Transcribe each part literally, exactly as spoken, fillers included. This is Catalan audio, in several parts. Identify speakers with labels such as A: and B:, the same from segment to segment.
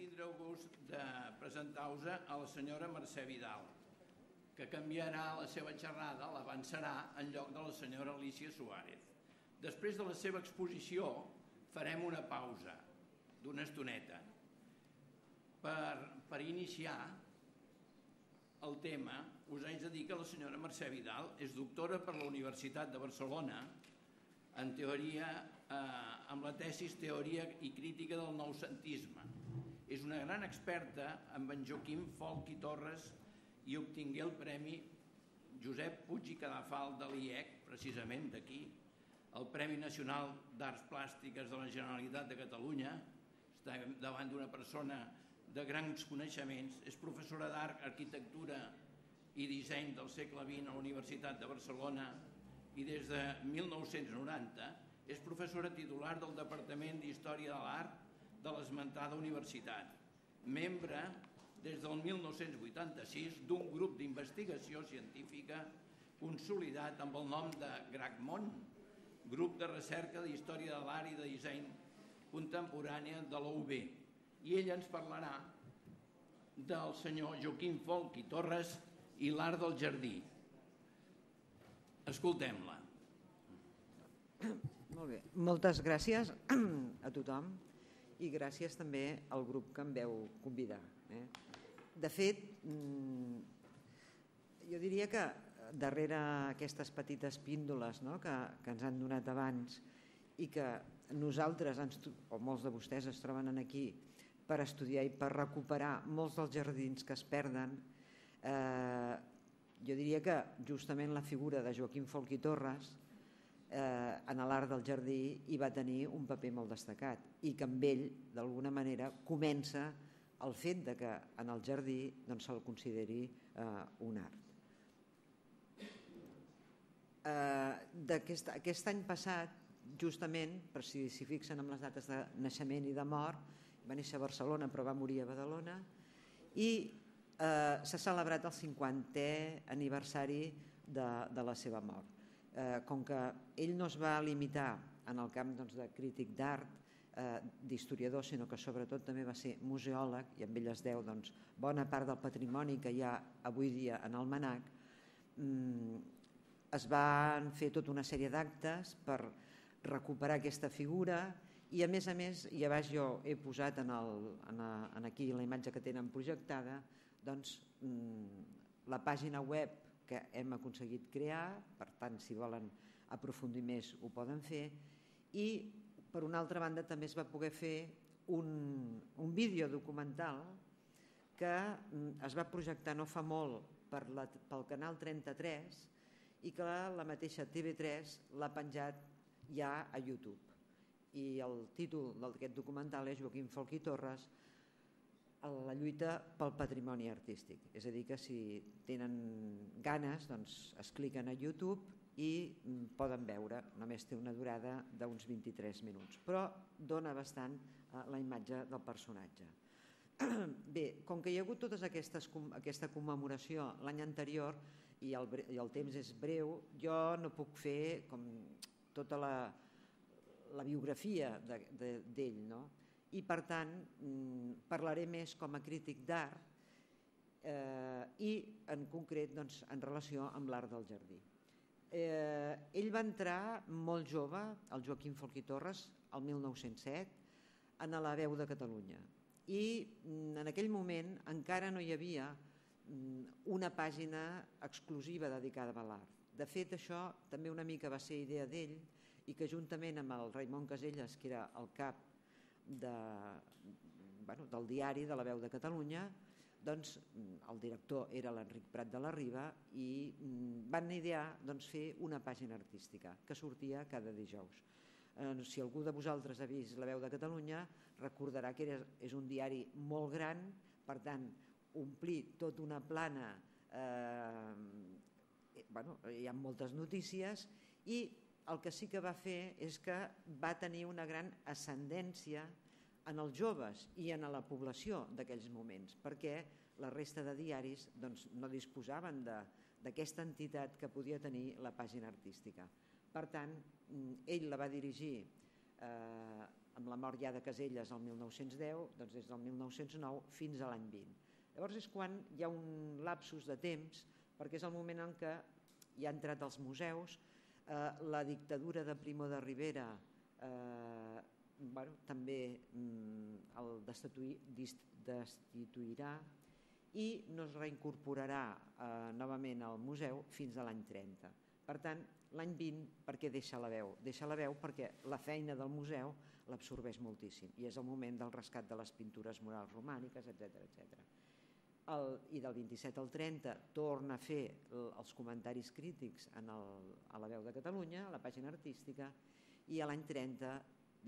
A: tindré el gust de presentar-vos a la senyora Mercè Vidal, que canviarà la seva xerrada, l'avançarà en lloc de la senyora Alicia Suárez. Després de la seva exposició farem una pausa d'una estoneta per, per iniciar el tema. Us haig de dir que la senyora Mercè Vidal és doctora per la Universitat de Barcelona en teoria, eh, amb la tesis Teoria i Crítica del Noucentisme. És una gran experta amb en Joaquim Folch i Torres i obtingué el Premi Josep Puig i Cadafal de l'I E C, precisament d'aquí, el Premi Nacional d'Arts Plàstiques de la Generalitat de Catalunya. Està davant d'una persona de grans coneixements. És professora d'Art, Arquitectura i Disseny del segle vint a la Universitat de Barcelona i des de mil nou-cents noranta és professora titular del Departament d'Història de l'Art de l'esmentada universitat. Membre des del mil nou-cents vuitanta-sis d'un grup d'investigació científica consolidat amb el nom de GRACMON, Grup de Recerca d'Història de l'Art i de Disseny Contemporània de la U B. I ella ens parlarà del senyor Joaquim Folch i Torres i l'art del jardí. Escoltem-la.
B: Molt bé. Moltes gràcies a tothom i gràcies també al grup que em veu convidar. De fet, jo diria que darrere aquestes petites píndoles que ens han donat abans i que nosaltres, o molts de vostès, es troben aquí per estudiar i per recuperar molts dels jardins que es perden, jo diria que justament la figura de Joaquim Folch i Torres en l'art del jardí hi va tenir un paper molt destacat i que amb ell, d'alguna manera, comença el fet que en el jardí se'l consideri un art. Aquest any passat, justament, per si s'hi fixen amb les dates de naixement i de mort, va néixer a Barcelona però va morir a Badalona, i s'ha celebrat el cinquantè aniversari de la seva mort. Com que ell no es va limitar en el camp de crític d'art, d'historiador, sinó que sobretot també va ser museòleg, i amb ell es deu bona part del patrimoni que hi ha avui dia en el MNAC, es van fer tota una sèrie d'actes per recuperar aquesta figura i, a més a més, i a baix jo he posat aquí la imatge que tenen projectada, la pàgina web que hem aconseguit crear, per tant, si volen aprofundir més ho poden fer, i per una altra banda també es va poder fer un vídeo documental que es va projectar no fa molt pel canal trenta-tres i que la mateixa T V tres l'ha penjat ja a YouTube. I el títol d'aquest documental és Joaquim Folch i Torres, la lluita pel patrimoni artístic. És a dir, que si tenen ganes, es cliquen a YouTube i poden veure. Només té una durada d'uns vint-i-tres minuts, però dona bastant la imatge del personatge. Bé, com que hi ha hagut tota aquesta commemoració l'any anterior i el temps és breu, jo no puc fer tota la biografia d'ell, no? I, per tant, parlaré més com a crític d'art i, en concret, en relació amb l'art del jardí. Ell va entrar molt jove, el Joaquim Folch i Torres, el mil nou-cents set, a La Veu de Catalunya. I en aquell moment encara no hi havia una pàgina exclusiva dedicada a l'art. De fet, això també una mica va ser idea d'ell i que, juntament amb el Raimon Casellas, que era el cap del diari de La Veu de Catalunya, doncs el director era l'Enric Prat de la Riba i van idear fer una pàgina artística que sortia cada dijous. Si algú de vosaltres ha vist La Veu de Catalunya recordarà que és un diari molt gran, per tant, omplir tota una plana, hi ha moltes notícies, i el que sí que va fer és que va tenir una gran ascendència en els joves i en la població d'aquells moments, perquè la resta de diaris no disposaven d'aquesta entitat que podia tenir la pàgina artística. Per tant, ell la va dirigir amb la mort ja de Caselles el mil nou-cents deu, doncs des del mil nou-cents nou fins a l'any vint. Llavors és quan hi ha un lapsus de temps, perquè és el moment en què hi ha entrat als museus, eh, la dictadura de Primo de Rivera eh, bueno, també mm, el destituir, destituirà i no es reincorporarà eh, novament al museu fins a l'any trenta. Per tant, l'any vint, per què deixa la veu? Deixa la veu perquè la feina del museu l'absorbeix moltíssim i és el moment del rescat de les pintures murals romàniques, etcètera, etcètera. El, i del vint-i-set al trenta torna a fer el, els comentaris crítics en el, a la Veu de Catalunya, a la pàgina artística, i a l'any trenta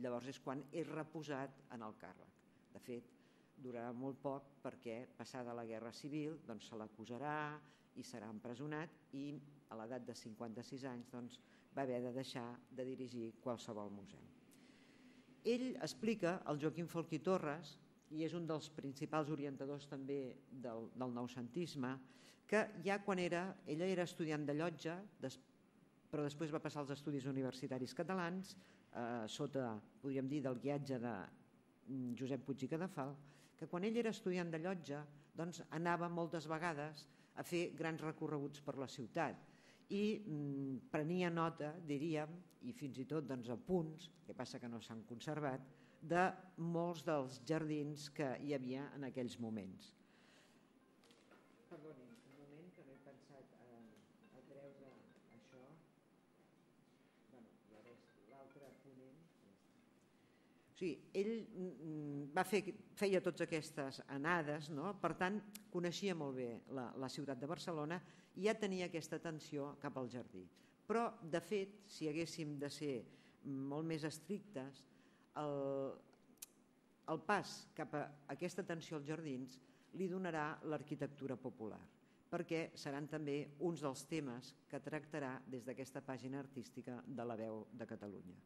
B: llavors és quan és reposat en el càrrec. De fet, durarà molt poc perquè passada la Guerra Civil doncs, se l'acusarà i serà empresonat i a l'edat de cinquanta-sis anys doncs, va haver de deixar de dirigir qualsevol museu. Ell explica, el Joaquim Folch i Torres, i és un dels principals orientadors també del, del noucentisme, que ja quan era, ella era estudiant de Llotja, des, però després va passar als estudis universitaris catalans, eh, sota, podríem dir, del guiatge de Josep Puig i Cadafal, que quan ell era estudiant de Llotja doncs, anava moltes vegades a fer grans recorreguts per la ciutat i mm, prenia nota, diríem, i fins i tot doncs, apunts, que passa que no s'han conservat, de molts dels jardins que hi havia en aquells moments. Perdoni, un moment que no he pensat a, a treure això. Bueno, l'altre ponent. O sigui, ell va fer, feia totes aquestes anades, no? Per tant, coneixia molt bé la, la ciutat de Barcelona i ja tenia aquesta atenció cap al jardí. Però, de fet, si haguéssim de ser molt més estrictes, El, el pas cap a aquesta atenció als jardins li donarà l'arquitectura popular, perquè seran també uns dels temes que tractarà des d'aquesta pàgina artística de la Veu de Catalunya.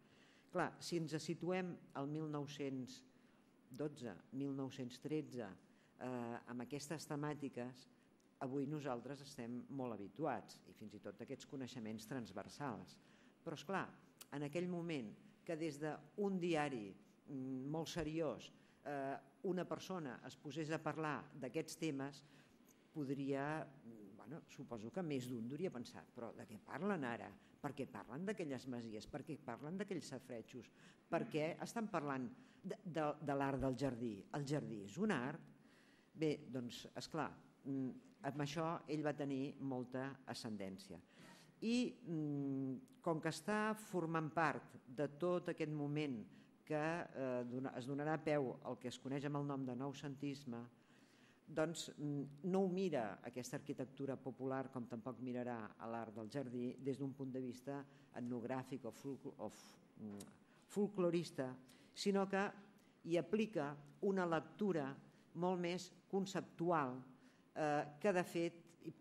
B: Clar, si ens situem al mil nou-cents dotze, mil nou-cents tretze, eh, amb aquestes temàtiques, avui nosaltres estem molt habituats i fins i tot aquests coneixements transversals. Però, esclar, en aquell moment que des d'un diari molt seriós eh, una persona es posés a parlar d'aquests temes, podria, bueno, suposo que més d'un hauria pensat, però de què parlen ara? Per què parlen d'aquelles masies? Per què parlen d'aquells safaretjos? Per què estan parlant de, de, de l'art del jardí? El jardí és un art? Bé, doncs, esclar, amb això ell va tenir molta ascendència. I com que està formant part de tot aquest moment que es donarà peu al que es coneix amb el nom de noucentisme, doncs no ho mira aquesta arquitectura popular com tampoc mirarà a l'art del jardí des d'un punt de vista etnogràfic o folclorista, sinó que hi aplica una lectura molt més conceptual que de fet,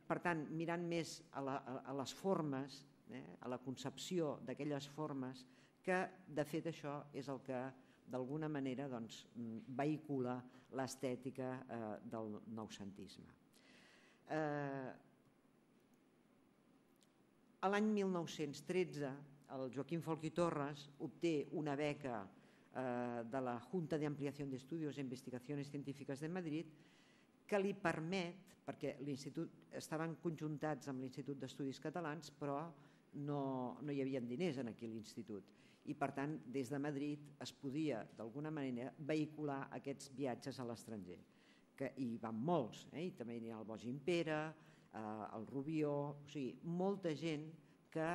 B: per tant, mirant més a, la, a les formes, eh, a la concepció d'aquelles formes, que de fet això és el que d'alguna manera doncs, vehicula l'estètica eh, del noucentisme. Eh, a l'any mil nou-cents tretze, el Joaquim Folch i Torres obté una beca eh, de la Junta de Ampliación de Estudios e Investigaciones Científicas de Madrid que li permet, perquè l'institut estaven conjuntats amb l'Institut d'Estudis Catalans, però no, no hi havia diners en aquell institut. I per tant, des de Madrid es podia d'alguna manera vehicular aquests viatges a l'estranger. Que hi van molts, eh? I també hi ha el Bosch Impera, eh, el Rubió, o sigui, molta gent que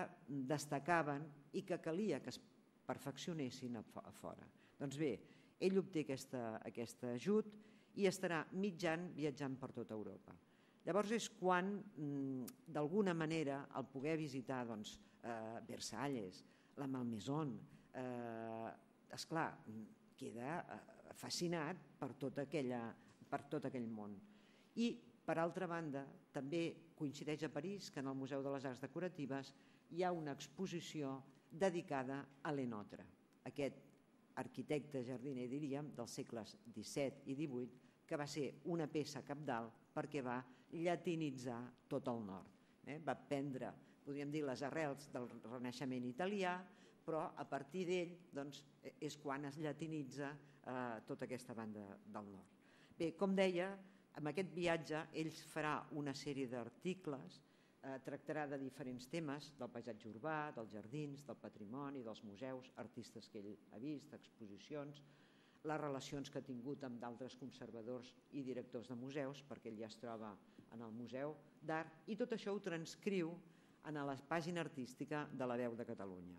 B: destacaven i que calia que es perfeccionessin a fora. Doncs bé, ell obté aquesta, aquest ajut i estarà mig any viatjant per tota Europa. Llavors és quan, d'alguna manera, al poder visitar doncs, eh, Versalles, la Malmaison, eh, esclar, queda fascinat per tot, aquella, per tot aquell món. I, per altra banda, també coincideix a París que en el Museu de les Arts Decoratives hi ha una exposició dedicada a Lenotre, aquest arquitecte jardiner, diríem, dels segles disset i divuit, que va ser una peça cabdal perquè va llatinitzar tot el nord. Eh? Va prendre, podríem dir, les arrels del Renaixement italià, però a partir d'ell doncs, és quan es llatinitza eh, tota aquesta banda del nord. Bé, com deia, amb aquest viatge ell farà una sèrie d'articles, eh, tractarà de diferents temes, del paisatge urbà, dels jardins, del patrimoni, dels museus, artistes que ell ha vist, exposicions, les relacions que ha tingut amb d'altres conservadors i directors de museus, perquè ell ja es troba en el Museu d'Art, i tot això ho transcriu en la pàgina artística de La Veu de Catalunya.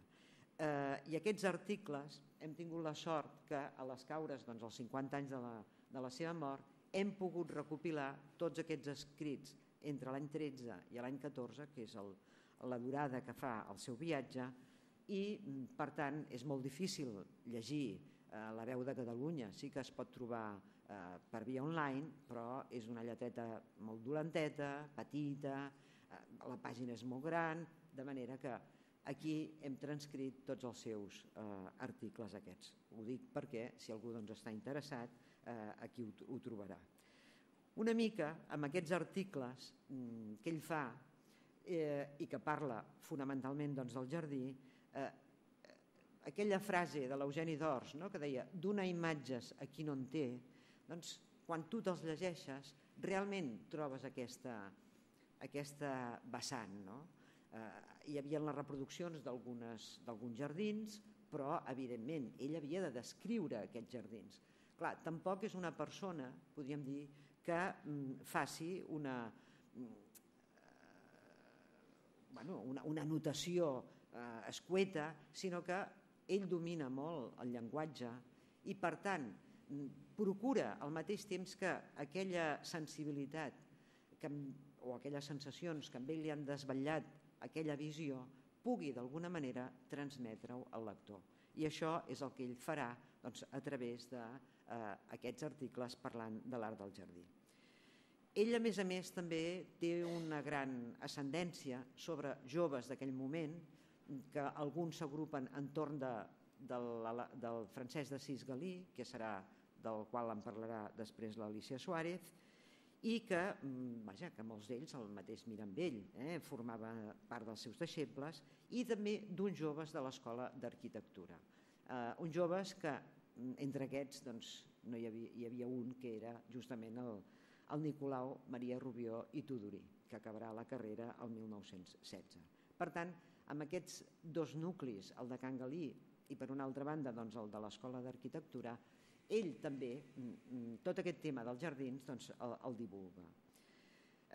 B: Eh, I aquests articles hem tingut la sort que a les caures doncs, als cinquanta anys de la, de la seva mort hem pogut recopilar tots aquests escrits entre l'any tretze i l'any catorze, que és el, la durada que fa el seu viatge, i per tant és molt difícil llegir eh, La Veu de Catalunya. Sí que es pot trobar eh, per via online, però és una lleteta molt dolenteta, petita, eh, la pàgina és molt gran, de manera que aquí hem transcrit tots els seus eh, articles aquests. Ho dic perquè, si algú doncs, està interessat, eh, aquí ho, ho trobarà. Una mica, amb aquests articles mm, que ell fa eh, i que parla fonamentalment doncs, del jardí, eh, aquella frase de l'Eugeni d'Ors, no?, que deia «donar imatges a qui no en té», doncs, quan tu te'ls llegeixes, realment trobes aquesta, aquesta vessant, no? Eh, hi havia les reproduccions d'alguns jardins, però, evidentment, ell havia de descriure aquests jardins. Clar, tampoc és una persona, podríem dir, que mm, faci una, mm, bueno, una, una notació eh, escueta, sinó que ell domina molt el llenguatge i, per tant, procura al mateix temps que aquella sensibilitat que, o aquelles sensacions que amb ell li han desvetllat aquella visió pugui d'alguna manera transmetre-ho al lector. I això és el que ell farà doncs, a través d'aquests eh, articles parlant de l'art del jardí. Ell, a més a més, també té una gran ascendència sobre joves d'aquell moment, que alguns s'agrupen entorn de, del, del Francesc d'Assís Galí, que serà del qual en parlarà després l'Alícia Suárez, i que, vaja, que molts d'ells, el mateix Mirambell, eh, formava part dels seus deixebles, i també d'uns joves de l'Escola d'Arquitectura. Eh, uns joves que, entre aquests, doncs, no hi havia, hi havia un que era justament el, el Nicolau Maria Rubió i Tudurí, que acabarà la carrera el mil nou-cents setze. Per tant, amb aquests dos nuclis, el de Can Galí i, per una altra banda, doncs, el de l'Escola d'Arquitectura, ell també, tot aquest tema dels jardins, doncs, el, el divulga.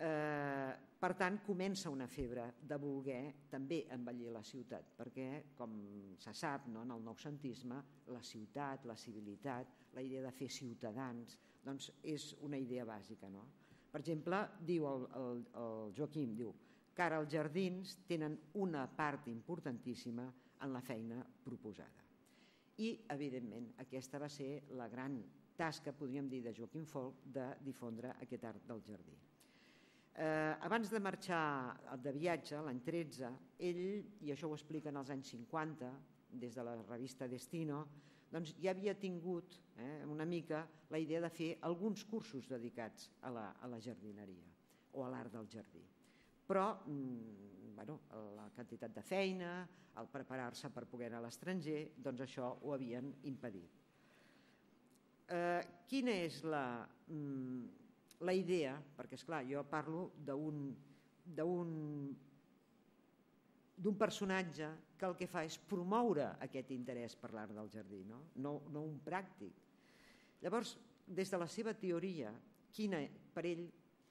B: Eh, per tant, comença una febre de voler també embellir la ciutat, perquè, com se sap, no, en el noucentisme, la ciutat, la civilitat, la idea de fer ciutadans, doncs és una idea bàsica. No? Per exemple, diu el, el, el Joaquim, diu que ara els jardins tenen una part importantíssima en la feina proposada. I, evidentment, aquesta va ser la gran tasca, podríem dir, de Joaquim Folch, de difondre aquest art del jardí. Eh, abans de marxar de viatge, l'any tretze, ell, i això ho explica en els anys cinquanta, des de la revista Destino, doncs ja havia tingut eh, una mica la idea de fer alguns cursos dedicats a la, a la jardineria o a l'art del jardí. Però mm, bueno, la quantitat de feina, el preparar-se per poder anar a l'estranger, doncs això ho havien impedit. Eh, quina és la, mm, la idea? Perquè, esclar, jo parlo d'un d'un d'un personatge que el que fa és promoure aquest interès per l'art del jardí, no? No, no un pràctic. Llavors, des de la seva teoria, quina, per ell,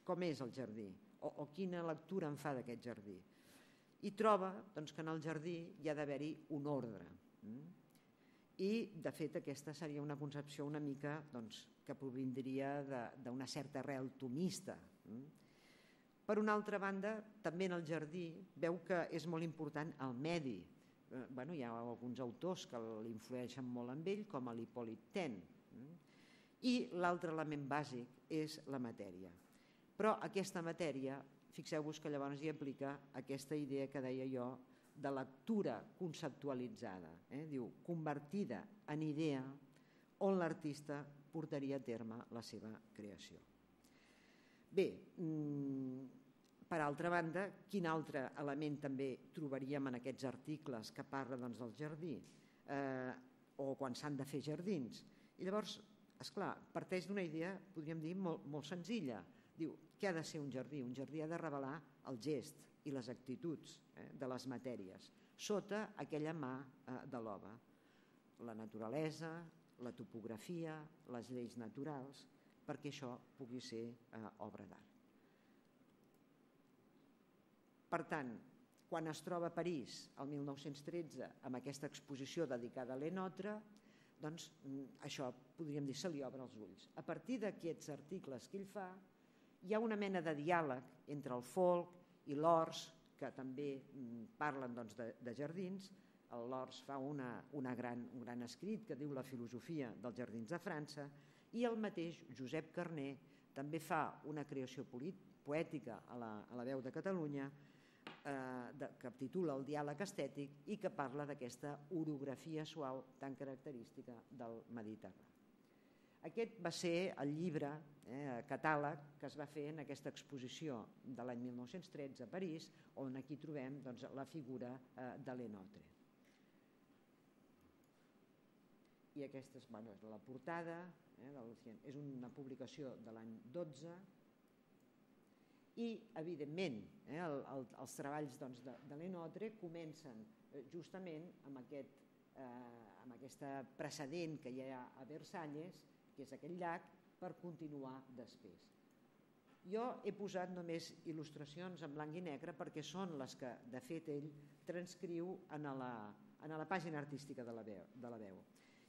B: com és el jardí? O, o quina lectura en fa d'aquest jardí? I troba doncs, que en el jardí hi ha d'haver-hi un ordre. I, de fet, aquesta seria una concepció una mica doncs, que provindria d'una certa arrel tomista. Per una altra banda, també en el jardí veu que és molt important el medi. Eh, bueno, hi ha alguns autors que l'influeixen molt amb ell, com l'Hipòlit Ten. I l'altre element bàsic és la matèria. Però aquesta matèria, fixeu-vos que llavors hi aplica aquesta idea que deia jo de lectura conceptualitzada, eh? Diu, convertida en idea on l'artista portaria a terme la seva creació. Bé, per altra banda, quin altre element també trobaríem en aquests articles que parla doncs, del jardí eh, o quan s'han de fer jardins? I llavors, esclar, parteix d'una idea, podríem dir, molt, molt senzilla. Diu, què ha de ser un jardí? Un jardí ha de revelar el gest i les actituds eh, de les matèries, sota aquella mà eh, de l'home. La naturalesa, la topografia, les lleis naturals, perquè això pugui ser eh, obra d'art. Per tant, quan es troba a París, el mil nou-cents tretze, amb aquesta exposició dedicada a Lenotre, doncs això, podríem dir, se li obre els ulls. A partir d'aquests articles que ell fa, hi ha una mena de diàleg entre el folk i l'Ors, que també parlen doncs, de, de jardins. L'Ors fa una, una gran, un gran escrit que diu La filosofia dels jardins de França, i el mateix Josep Carner també fa una creació poètica a la, a la Veu de Catalunya, eh, de, que titula El diàleg estètic i que parla d'aquesta orografia suau tan característica del Mediterrani. Aquest va ser el llibre, eh, catàleg, que es va fer en aquesta exposició de l'any mil nou-cents tretze a París, on aquí trobem doncs, la figura eh, de Lenotre. I aquesta és, bueno, és la portada, eh, del, és una publicació de l'any dotze, i evidentment eh, el, el, els treballs doncs, de, de Lenotre comencen eh, justament amb aquest, eh, amb aquesta precedent que hi ha a Versalles, que és aquell llac, per continuar després. Jo he posat només il·lustracions en blanc i negre perquè són les que de fet ell transcriu en la, en la pàgina artística de la veu. De la veu.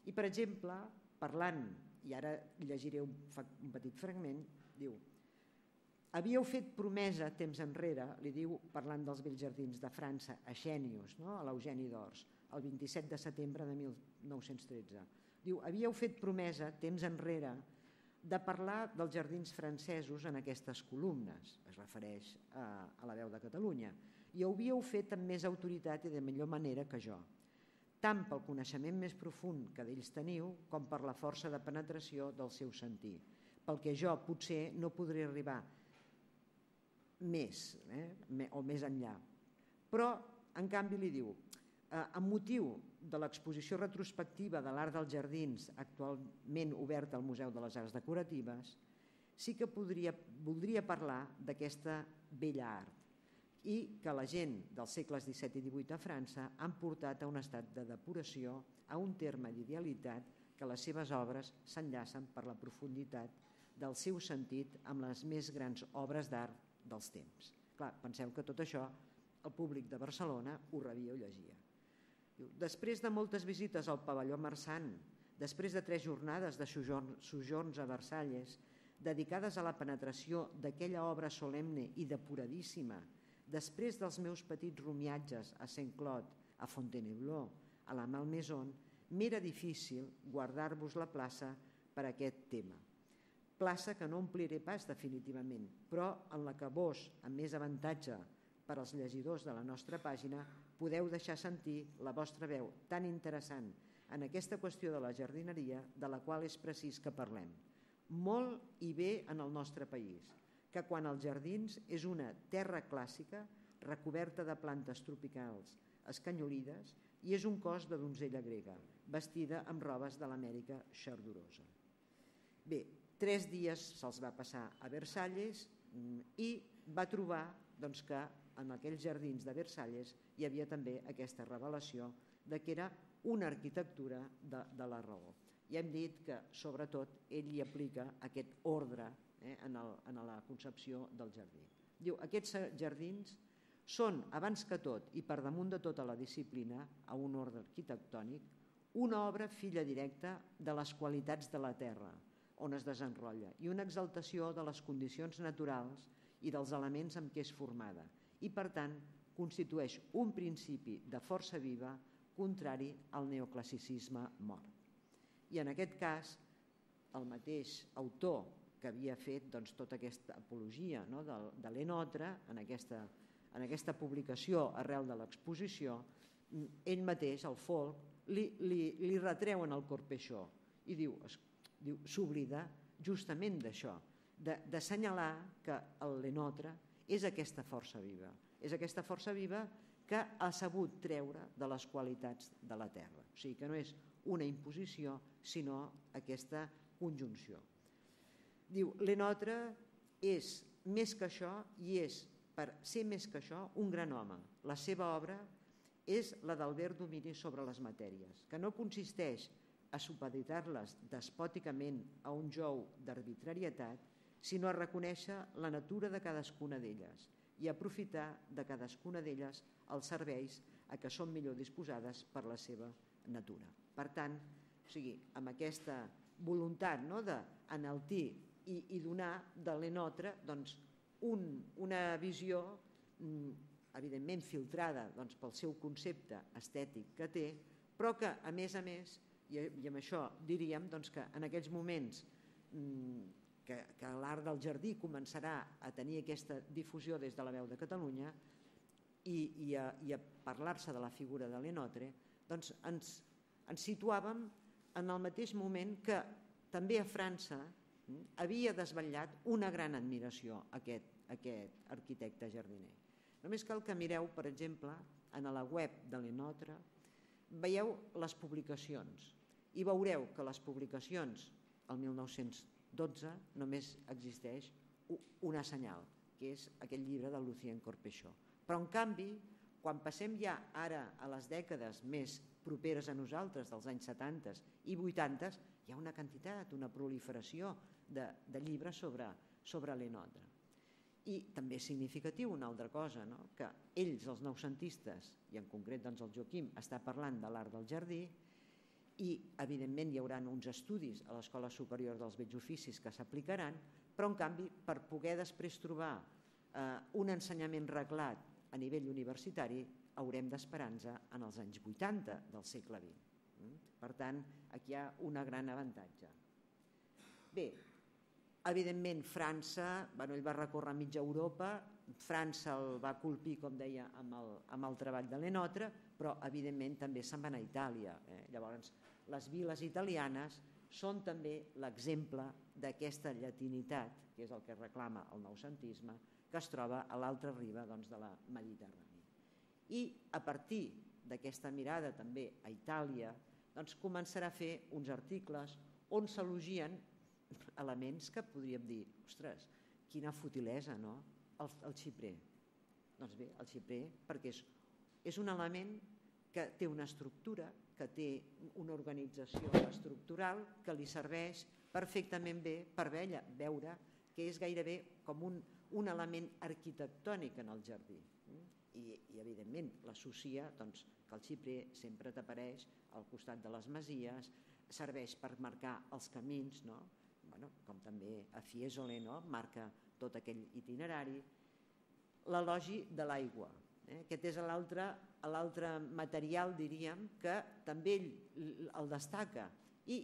B: I per exemple, parlant, i ara llegiré un, un petit fragment, diu: havíeu fet promesa temps enrere, li diu parlant dels bells jardins de França, a Xènius, no? A l'Eugeni d'Ors, el vint-i-set de setembre de mil nou-cents tretze. Diu, havíeu fet promesa temps enrere de parlar dels jardins francesos en aquestes columnes, es refereix a, a la Veu de Catalunya, i ho havíeu fet amb més autoritat i de millor manera que jo, tant pel coneixement més profund que d'ells teniu com per la força de penetració del seu sentir, pel que jo potser no podré arribar més eh, o més enllà. Però, en canvi, li diu, eh, amb motiu de l'exposició retrospectiva de l'art dels jardins actualment oberta al Museu de les Arts Decoratives, sí que podria, voldria parlar d'aquesta bella art i que la gent dels segles disset i divuit a França han portat a un estat de depuració, a un terme d'idealitat que les seves obres s'enllacen per la profunditat del seu sentit amb les més grans obres d'art dels temps. Clar, penseu que tot això el públic de Barcelona ho rebia o llegia. Després de moltes visites al pavelló Marsan, després de tres jornades de sojorns a Versalles, dedicades a la penetració d'aquella obra solemne i depuradíssima, després dels meus petits rumiatges a Saint-Cloud, a Fontainebleau, a la Malmaison, m'era difícil guardar-vos la plaça per aquest tema. Plaça que no ompliré pas definitivament, però en la que vos, amb més avantatge per als llegidors de la nostra pàgina, podeu deixar sentir la vostra veu tan interessant en aquesta qüestió de la jardineria de la qual és precís que parlem. Molt i bé en el nostre país, que quan els jardins és una terra clàssica recoberta de plantes tropicals escanyolides i és un cos de donzella grega, vestida amb robes de l'Amèrica xardorosa. Bé, tres dies se'ls va passar a Versalles i va trobar doncs, que en aquells jardins de Versalles hi havia també aquesta revelació de que era una arquitectura de, de la raó. I hem dit que, sobretot, ell hi aplica aquest ordre eh, en, el, en la concepció del jardí. Diu, aquests jardins són, abans que tot i per damunt de tota la disciplina, a un ordre arquitectònic, una obra filla directa de les qualitats de la terra, on es desenrotlla, i una exaltació de les condicions naturals i dels elements amb què és formada, i per tant constitueix un principi de força viva contrari al neoclassicisme mort. I en aquest cas, el mateix autor que havia fet doncs, tota aquesta apologia no, de, de Lenotre en aquesta, en aquesta publicació arrel de l'exposició, ell mateix, el Folk, li, li, li retreu en el Corpechó i diu, diu s'oblida justament d'això, d'assenyalar que el Lenotre és aquesta força viva. És aquesta força viva que ha sabut treure de les qualitats de la terra. O sigui que no és una imposició, sinó aquesta conjunció. Diu, Lenotre és més que això i és, per ser més que això, un gran home. La seva obra és la d'Albert Domini sobre les matèries, que no consisteix a supeditar-les despòticament a un jou d'arbitrarietat, sinó a reconèixer la natura de cadascuna d'elles i aprofitar de cadascuna d'elles els serveis a què són millor disposades per la seva natura. Per tant, o sigui, amb aquesta voluntat no, d'enaltir i, i donar de Lenotre doncs, un, una visió evidentment filtrada doncs, pel seu concepte estètic que té, però que, a més a més, i, i amb això diríem doncs, que en aquells moments mmm, que, que l'art del jardí començarà a tenir aquesta difusió des de la Veu de Catalunya i, i, a, i a parlar-se de la figura de Lenotre, doncs ens, ens situàvem en el mateix moment que també a França hm, havia desvetllat una gran admiració a aquest, aquest arquitecte jardiner. Només cal que mireu, per exemple, en la web de Lenotre, veieu les publicacions i veureu que les publicacions el mil nou-cents dotze només existeix una senyal, que és aquell llibre de Lucien Corpechot. Però en canvi, quan passem ja ara a les dècades més properes a nosaltres, dels anys setanta i vuitanta, hi ha una quantitat, una proliferació de, de llibres sobre, sobre Lenotre. I també és significatiu una altra cosa, no? Que ells, els noucentistes, i en concret doncs, el Joaquim, està parlant de l'art del jardí i evidentment hi haurà uns estudis a l'Escola Superior dels Bells Oficis que s'aplicaran, però en canvi per poder després trobar eh, un ensenyament reglat a nivell universitari haurem d'esperar-nos en els anys vuitanta del segle vint. Per tant, aquí hi ha un gran avantatge. Bé, evidentment França, bueno, ell va recórrer mitja Europa, França el va colpir, com deia, amb el, amb el treball de Lenotre, però evidentment també se'n van a Itàlia. Eh? Llavors, les viles italianes són també l'exemple d'aquesta llatinitat, que és el que reclama el noucentisme, que es troba a l'altra riba doncs, de la Mediterrània. I a partir d'aquesta mirada també a Itàlia, doncs, començarà a fer uns articles on s'elogien elements que podríem dir, ostres, quina futilesa, no? El, el xiprer. Doncs bé, el xiprer, perquè és, és un element que té una estructura, que té una organització estructural que li serveix perfectament bé per veure que és gairebé com un, un element arquitectònic en el jardí. I, i evidentment, l'associa doncs, que el xiprer sempre t'apareix al costat de les masies, serveix per marcar els camins, no? Bueno, com també a Fiesole, no? Marca tot aquell itinerari. L'elogi de l'aigua. Eh? Aquest és l'altre material, diríem, que també ell el destaca. I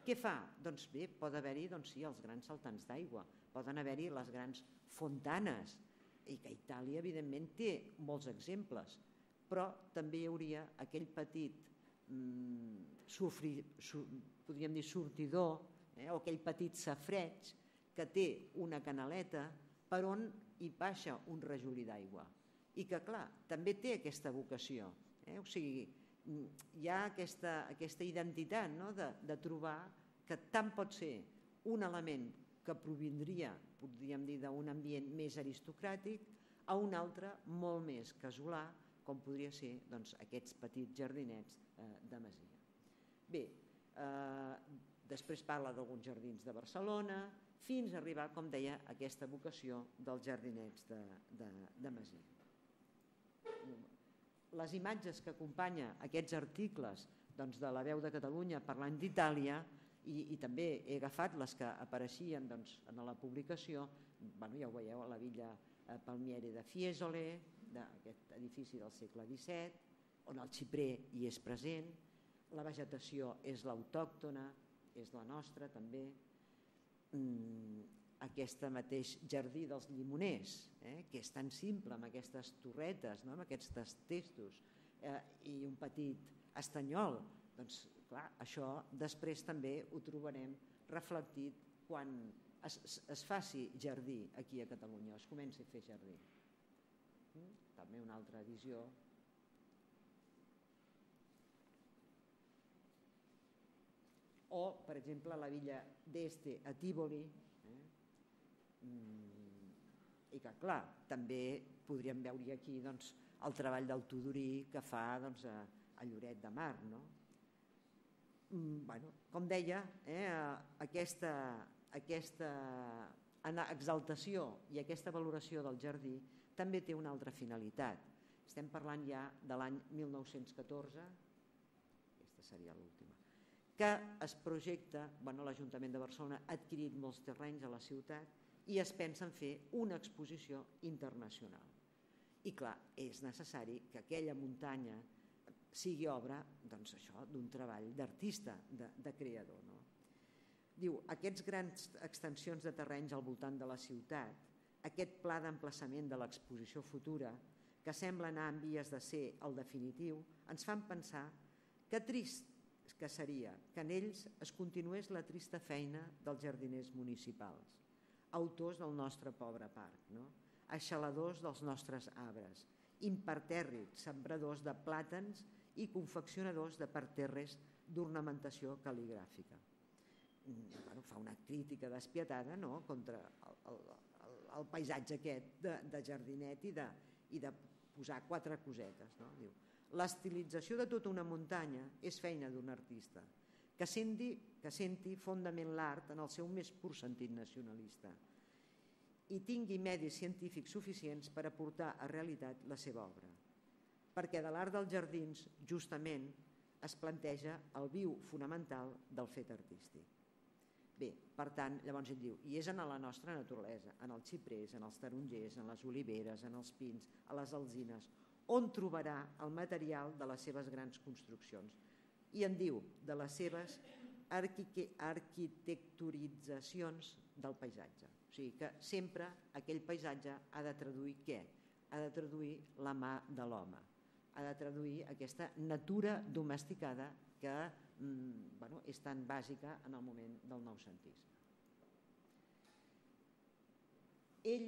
B: què fa? Doncs bé, pot haver-hi doncs, sí, els grans saltants d'aigua, poden haver-hi les grans fontanes, i que Itàlia, evidentment, té molts exemples, però també hi hauria aquell petit, mm, sofri, su, podríem dir, sortidor, eh, o aquell petit safreig que té una canaleta per on hi baixa un rajolí d'aigua i que, clar, també té aquesta vocació. Eh? O sigui, hi ha aquesta, aquesta identitat, no? de, de trobar que tant pot ser un element que provindria, podríem dir, d'un ambient més aristocràtic a un altre molt més casolà, com podria ser doncs, aquests petits jardinets eh, de masia. Bé, eh, després parla d'alguns jardins de Barcelona, fins a arribar, com deia, a aquesta vocació dels jardinets de, de, de masia. Les imatges que acompanyen aquests articles doncs, de la Veu de Catalunya parlant d'Itàlia, i, i també he agafat les que apareixien doncs, en la publicació, bueno, ja ho veieu, a la Villa Palmieri de Fiesole, d'aquest edifici del segle disset, on el xiprer hi és present, la vegetació és l'autòctona, és la nostra també, mm, aquest mateix jardí dels llimoners, eh, que és tan simple, amb aquestes torretes, no? Amb aquests testos, eh, i un petit estanyol, doncs clar, això després també ho trobarem reflectit quan es, es faci jardí aquí a Catalunya, es comenci a fer jardí. Mm? També una altra visió. O, per exemple, la villa d'Este a Tívoli, eh? mm, i que, clar, també podríem veure aquí doncs, el treball del Tudorí que fa doncs, a, a Lloret de Mar. No? Mm, bueno, com deia, eh, aquesta, aquesta exaltació i aquesta valoració del jardí també té una altra finalitat. Estem parlant ja de l'any mil nou-cents catorze, aquesta seria l'última, que es projecta, bueno, l'Ajuntament de Barcelona ha adquirit molts terrenys a la ciutat i es pensa en fer una exposició internacional. I clar, és necessari que aquella muntanya sigui obra doncs això, d'un treball d'artista, de, de creador. No? Diu, aquests grans extensions de terrenys al voltant de la ciutat, aquest pla d'emplaçament de l'exposició futura, que sembla anar en vies de ser el definitiu, ens fan pensar que trist que seria que en ells es continués la trista feina dels jardiners municipals, autors del nostre pobre parc, no? Aixaladors dels nostres arbres, impertèrrits, sembradors de plàtans i confeccionadors de parterres d'ornamentació cal·ligràfica. Bueno, fa una crítica despietada, no?, contra el, el, el, el paisatge aquest de, de jardinet i de, i de posar quatre cosetes. No? Diu, l'estilització de tota una muntanya és feina d'un artista que senti, que senti fondament l'art en el seu més pur sentit nacionalista i tingui medis científics suficients per aportar a realitat la seva obra. Perquè de l'art dels jardins, justament, es planteja el viu fonamental del fet artístic. Bé, per tant, llavors ell diu, i és en la nostra naturalesa, en els xiprers, en els tarongers, en les oliveres, en els pins, a les alzines, on trobarà el material de les seves grans construccions. I en diu de les seves arquitecturitzacions del paisatge. O sigui que sempre aquell paisatge ha de traduir què? Ha de traduir la mà de l'home, ha de traduir aquesta natura domesticada que mm, bueno, és tan bàsica en el moment del noucentisme. Ell,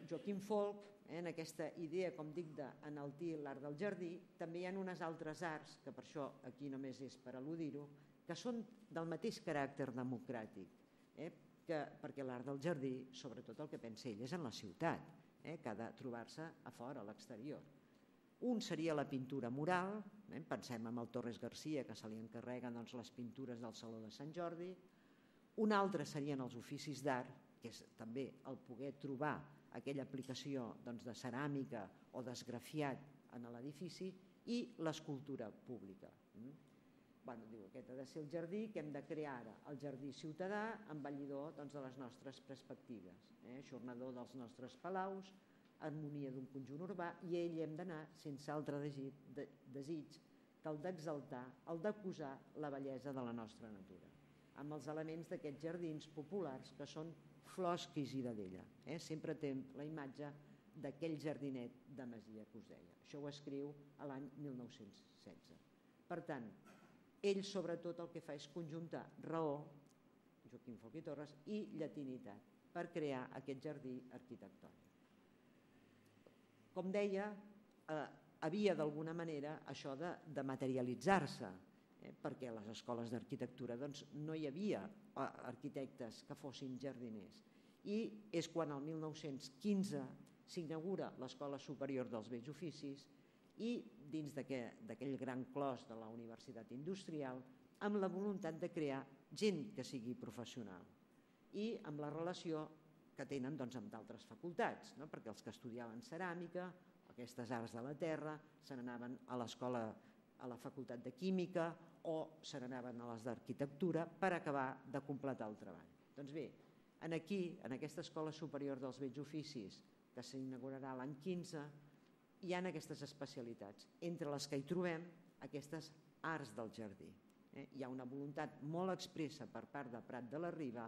B: Joaquim Folch, eh, en aquesta idea, com dic, d'enaltir l'art del jardí, també hi ha unes altres arts, que per això aquí només és per al·ludir-ho, que són del mateix caràcter democràtic, eh, que, perquè l'art del jardí, sobretot el que pensa ell, és en la ciutat, eh, que ha de trobar-se a fora, a l'exterior. Un seria la pintura mural, eh, pensem en el Torres Garcia, que se li encarreguen doncs, les pintures del Saló de Sant Jordi. Un altre serien els oficis d'art, que és també el poder trobar aquella aplicació doncs, de ceràmica o d'esgrafiat en l'edifici, i l'escultura pública. Bueno, diu, aquest ha de ser el jardí que hem de crear ara, el jardí ciutadà, embellidor doncs, de les nostres perspectives, eh? Ajornador dels nostres palaus, harmonia d'un conjunt urbà, i ell hem d'anar sense altre desig, de, desig que el d'exaltar, el d'acusar la bellesa de la nostra natura, amb els elements d'aquests jardins populars que són flors que Isidadella. Eh? Sempre té la imatge d'aquell jardinet de Masia que us deia. Això ho escriu a l'any mil nou-cents setze. Per tant, ell sobretot el que fa és conjuntar raó, Joaquim Folch i Torres, i llatinitat per crear aquest jardí arquitectònic. Com deia, eh, havia d'alguna manera això de, de materialitzar-se, eh, perquè a les escoles d'arquitectura doncs, no hi havia eh, arquitectes que fossin jardiners. I és quan el mil nou-cents quinze s'inaugura l'Escola Superior dels Bells Oficis i dins d'aquell gran clos de la Universitat Industrial, amb la voluntat de crear gent que sigui professional i amb la relació que tenen doncs, amb d'altres facultats, no? Perquè els que estudiaven ceràmica, aquestes arts de la terra, se n'anaven a l'escola, a la facultat de química o se n'anaven a les d'arquitectura per acabar de completar el treball. Doncs bé, aquí, en aquesta Escola Superior dels Bells Oficis, que s'inaugurarà l'any quinze, hi ha aquestes especialitats, entre les que hi trobem aquestes arts del jardí. Eh? Hi ha una voluntat molt expressa per part de Prat de la Riba,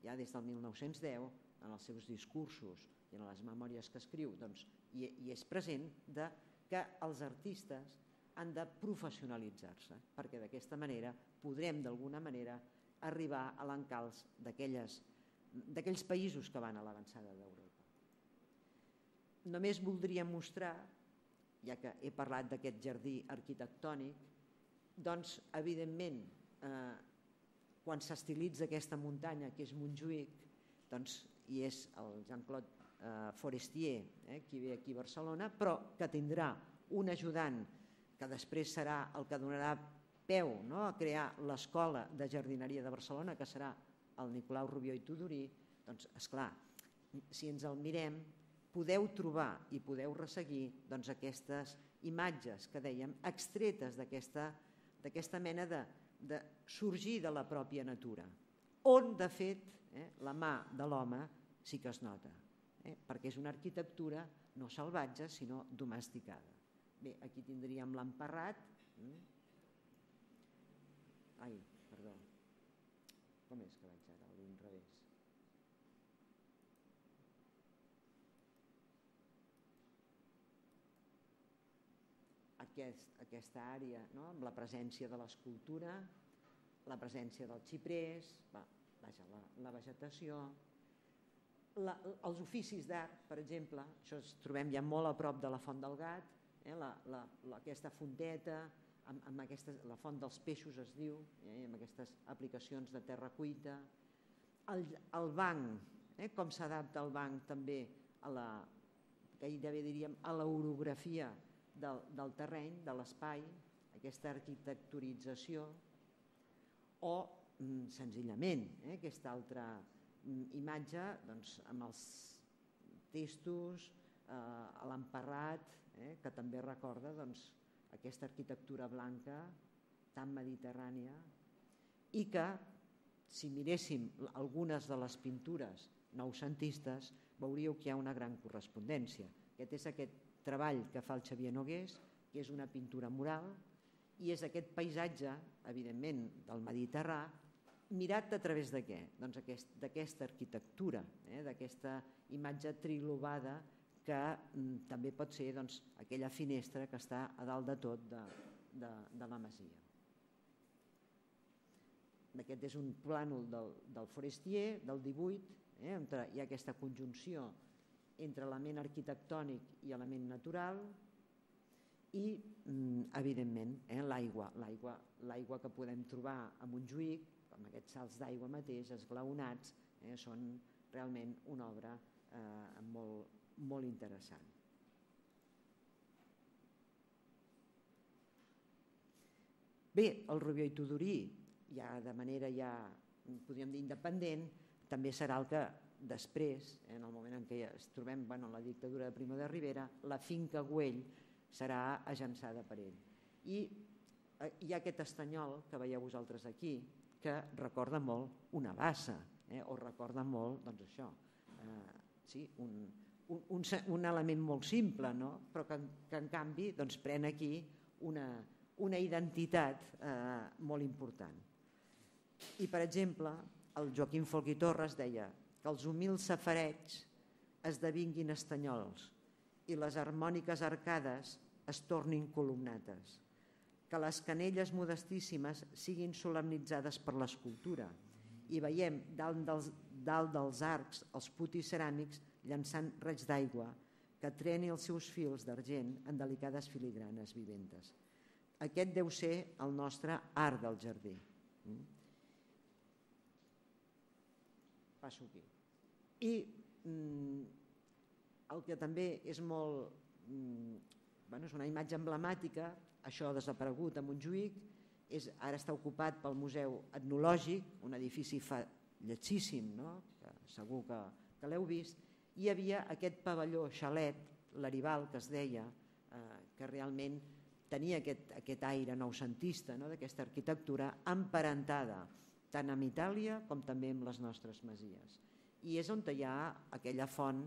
B: ja des del mil nou-cents deu, en els seus discursos i en les memòries que escriu, doncs, i, i és present de que els artistes han de professionalitzar-se, perquè d'aquesta manera podrem d'alguna manera arribar a l'encalç d'aquelles d'aquells països que van a l'avançada d'Europa. Només voldria mostrar, ja que he parlat d'aquest jardí arquitectònic, doncs, evidentment, eh, quan s'estilitza aquesta muntanya, que és Montjuïc, doncs, i és el Jean-Claude eh, Forestier, eh, qui ve aquí a Barcelona, però que tindrà un ajudant que després serà el que donarà peu, no?, a crear l'Escola de Jardineria de Barcelona, que serà el Nicolau Rubió i Tudurí. Doncs, esclar, si ens el mirem, podeu trobar i podeu resseguir doncs, aquestes imatges que dèiem, extretes d'aquesta mena de, de sorgir de la pròpia natura, on, de fet, eh, la mà de l'home sí que es nota, eh, perquè és una arquitectura no salvatge, sinó domesticada. Bé, aquí tindríem l'emparrat. Ai, perdó. Com és que vaig ara a l'inrevés? Aquest, aquesta àrea, no?, amb la presència de l'escultura, la presència dels xiprers, va, vaja, la, la vegetació, la, els oficis d'art, per exemple, això es trobem ja molt a prop de la Font del Gat, eh, la, la, la, aquesta fonteta, amb, amb aquesta, la font dels peixos es diu, eh, amb aquestes aplicacions de terra cuita, el, el banc, eh, com s'adapta el banc també a la, gairebé diríem, a l'orografia del, del terreny, de l'espai, aquesta arquitecturització, o mm, senzillament eh, aquesta altra mm, imatge doncs, amb els testos, eh, l'emparrat, eh, que també recorda doncs, aquesta arquitectura blanca tan mediterrània, i que, si miréssim algunes de les pintures noucentistes, veuríeu que hi ha una gran correspondència. Aquest és aquest treball que fa el Xavier Nogués, que és una pintura mural, i és aquest paisatge, evidentment, del Mediterrà, mirat a través de què? Doncs d'aquesta arquitectura, eh, d'aquesta imatge trilobada que mm, també pot ser doncs, aquella finestra que està a dalt de tot de, de, de la masia. Aquest és un plànol del, del Forestier, del divuit, eh, on hi ha aquesta conjunció entre element arquitectònic i element natural i, mm, evidentment, eh, l'aigua, l'aigua, l'aigua que podem trobar a Montjuïc, amb aquests salts d'aigua mateix, esglaonats, eh, són realment una obra eh, molt, molt interessant. Bé, el Rubió i Tudurí, ja de manera ja, podríem dir, independent, també serà el que després, en el moment en què ens trobem bueno, en la dictadura de Primo de Rivera, la finca Güell serà agençada per ell. I hi ha aquest estanyol que veieu vosaltres aquí, que recorda molt una bassa, eh? o recorda molt, doncs això, eh, sí, un, un, un element molt simple, no? Però que, que en canvi doncs, pren aquí una, una identitat eh, molt important. I, per exemple, el Joaquim Folch i Torres deia que els humils safareigs esdevinguin estanyols i les harmòniques arcades es tornin columnates, que les canelles modestíssimes siguin solemnitzades per l'escultura i veiem dalt dels, dalt dels arcs els putis ceràmics llançant raigs d'aigua que treni els seus fils d'argent en delicades filigranes viventes. Aquest deu ser el nostre art del jardí. Passo aquí. I mm, el que també és molt... Mm, bueno, és una imatge emblemàtica, això ha desaparegut a Montjuïc, és, ara està ocupat pel Museu Etnològic, un edifici fa lletjíssim, no? Que segur que, que l'heu vist. Hi havia aquest pavelló xalet, l'Aribal, que es deia, eh, que realment tenia aquest, aquest aire noucentista, no? D'aquesta arquitectura emparentada tant amb Itàlia com també amb les nostres masies. I és on hi ha aquella font,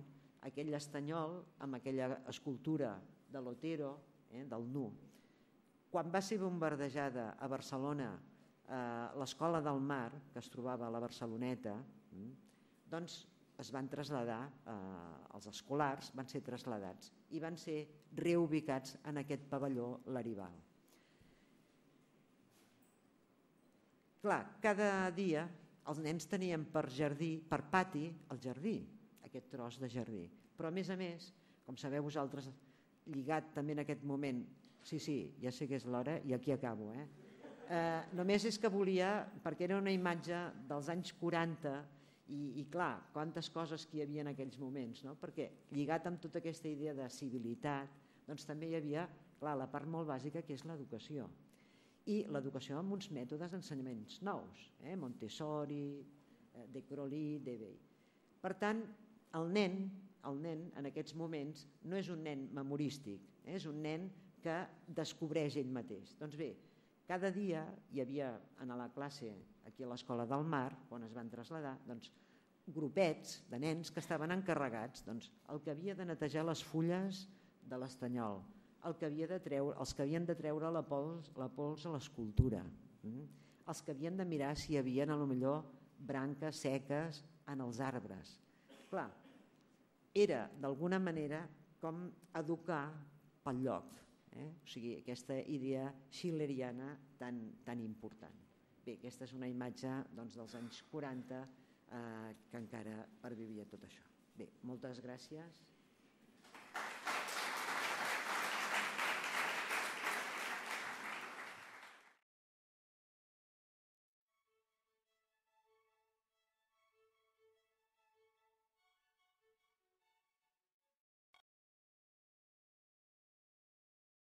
B: aquell estanyol amb aquella escultura de l'Otero, eh, del Nu. Quan va ser bombardejada a Barcelona eh, l'Escola del Mar, que es trobava a la Barceloneta, eh, doncs es van traslladar, eh, els escolars van ser traslladats i van ser reubicats en aquest pavelló l'Aribal. Clar, cada dia els nens tenien per jardí, per pati, el jardí, aquest tros de jardí. Però a més a més, com sabeu vosaltres, lligat també en aquest moment, sí, sí, ja sé que és l'hora i aquí acabo, eh? Eh, només és que volia, perquè era una imatge dels anys quaranta i, i clar, quantes coses que hi havia en aquells moments, no? Perquè lligat amb tota aquesta idea de civilitat, doncs també hi havia, clar, la part molt bàsica que és l'educació. I l'educació amb uns mètodes d'ensenyaments nous, eh? Montessori, eh, de Crowley, Dewey. Per tant, el nen, el nen en aquests moments no és un nen memorístic, eh? És un nen que descobreix ell mateix. Doncs bé, cada dia hi havia a la classe aquí a l'Escola del Mar, quan es van traslladar, doncs, grupets de nens que estaven encarregats, doncs, el que havia de netejar les fulles de l'estanyol, el que havia de treure, els que havien de treure la pols, la pols a l'escultura, mm? els que havien de mirar si hi havia, a lo millor, branques seques en els arbres. Clar, era d'alguna manera com educar pel lloc. Eh? O sigui, aquesta idea schilleriana tan, tan important. Bé, aquesta és una imatge doncs, dels anys quaranta eh, que encara pervivia tot això. Bé, moltes gràcies.